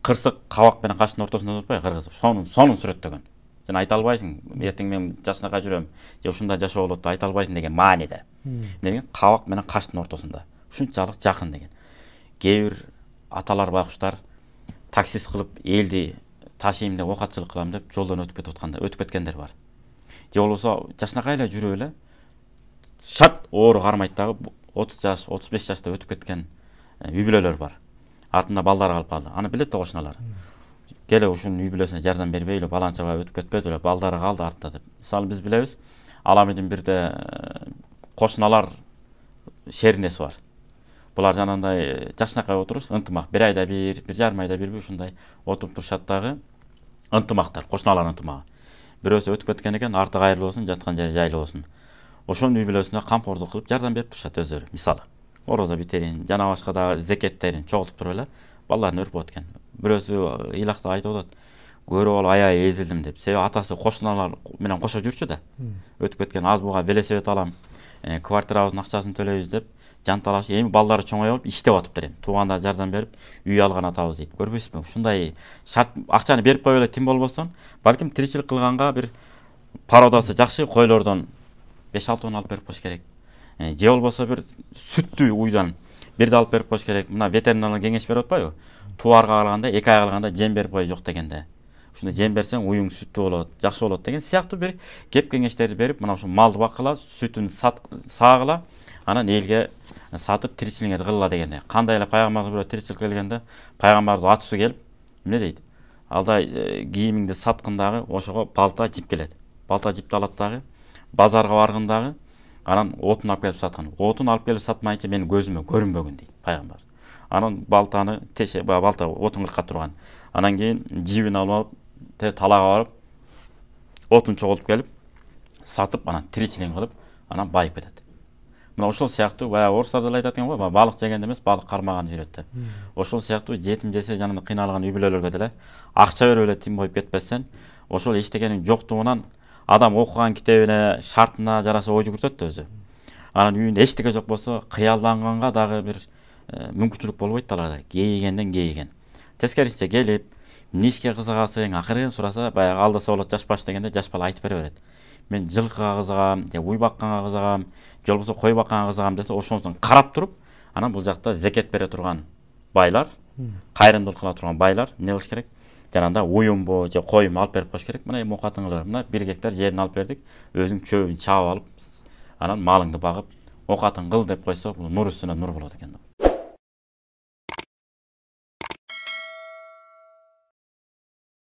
кырсык кабак менен каштын ортосунда турпайбы кыргызып сонун сүрөттөгөн. Сен айта албайсың, эртең мен жашнакай жүрөм, же ушундай жашоо болот деп айта албайсың деген мааниде. Деген кабак менен каштын ортосунда. Ушунчалык жакын деген. Кээ бир аталар байкуштар таксист кылып элди ташыйм деп, окатчылык кылам деп жолдон өтүп кеткендер бар. Же болбосо жашнакай эле жүрүп эле шарт оору кармайт дагы 30 жаш, 35 жашта өтүп кеткен үй бүлөлөр бар. Артында балдары калып калды. Аны билет да кошуналар. Келе ушунун үй бүлөсүнө жардам бербейли, баланчабай өтүп кетпеди эле, балдары калды артта деп. Мисалы биз билебиз, Аламедин бирде кошуналар шеринеси бар. Булар жанагындай жашнакай отуруш, ынтымак, bir айда bir жарым айда bir ушундай отуруп турушат дагы ынтымактар, кошуналар ынтымагы. Бирөөсү өтүп кеткен экен, арты кайрылуу болсун, жаткан жери жайлуу болсун. Ошонун үй бүлөсүнө камкордук кылып жардам берип турушат өздөрү. Мисалы, орозо битерин, жана башка дагы зекеттерин чогултуп туруп эле балдарын өрүп өткөн. Бирөөсү ыйлакта айтып атат, көрүп алып аябай эзилдим деп. Себеби атасы кошуналар менен кошо жүрчү да. Өтүп кеткен аз буга велосипед алам, квартирабыздын акчасын төлөйбүз деп жанталашып, эми балдары чоңоюп алып иштеп атыптыр эми. Туугандар жардам берип, үй алган атабыз дейт. Көрбөйсүзбү? Ушундай шарт акчаны берип коюп эле тим болбостон, балким тиричилик кылганга бир породасы жакшы койлордон 5-6 тонн алып берип коюш керек. Же болбосо бир сүттүү уйдан бирди алып берип коюш керек. Мына ветеринарлык кеңеш берип атпайбы? Тууарга калганда, 2 айга калганда жем берип кой жок дегенде. Ушундай жем берсең уюң сүттүү болот, жакшы болот деген сыяктуу бир кеп кеңештерди берип, мына ушу малды баккыла, сүтүн саагыла, анан элге сатып тиричилигиңерди кылгыла дегенде. Кандай эле пайгамбарыбыз бирөө тиричилик келгенде, пайгамбарыбыз атысы келип, эмне дейт? Алда кийимиңди саткын дагы, ошого балта жип келет. Балта жипти алат дагы, базарга баргын дагы, анан отун алып келип саткын. Отун алып келип сатмайынча менин көзүмө көрүнбөгүн дейт пайгамбар. Анан балтаны балта отун кыркап турган. Анан кийин жибин алып, талага барып, отун чогултуп келип, сатып, анан тиричилигин кылып, анан байып кетет. Мына ошол сыяктуу баягы орустар деле айтат экен го, балык жегенде эмес, балык кармаган жүрөт деп. Ошол сыяктуу жетим жесе жанында кыйналган үй бүлөлөргө деле акча берип эле тим коюп кетпестен, ошол эчтегенин жоктугунан адам окуган китебине, шартына жараша ой жүгүртөт да өзү. Анан үйүндө эчтеке жок болсо, кыялданганга дагы бир мүмкүнчүлүк болбойт да аларда. Кейигенден кейиген. Тескерисинче келип, эмне ишке кызыгасың, акырын сураса, баягы алдаса болот жаш баш дегенде жаш бала айтып бере берет. Мен жылкыга кызыгам, же уй бакканга кызыгам, же болбосо кой бакканга кызыгам десе, ошондон карап туруп, анан бул жакта зекет бере турган байлар, кайрымдуулук кыла турган байлар эмне кылыш керек? Жанагындай уюмбу же койму алып берип коюш керек. Мына эми окатыңыздар, мына 1 гектар жерин алып бердик, өзүң чөбүн чаап алып, анан малыңды багып, окатың кыл деп койсо, бул нур үстүнө нур болот экен.